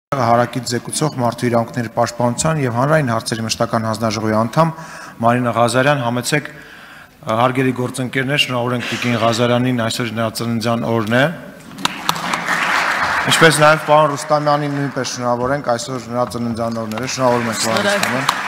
Հարակից զեկուցող մարդու իրավունքների պաշտպանության եւ հանրային հարցերի մշտական հանձնաժողովի անդամ Մարինա Ղազարյան, համեցեք հարգելի գործընկերներ, շնորհավորենք Տիկին Ղազարյանին, այսօր նրա ծննդյան օրն է։ Ինչպես նաեւ պարոն Ռուստամյանին նույնպես շնորհավորենք, այսօր նրա ծննդյան օրն է, շնորհավորում ենք պարոն Ռուստամյան։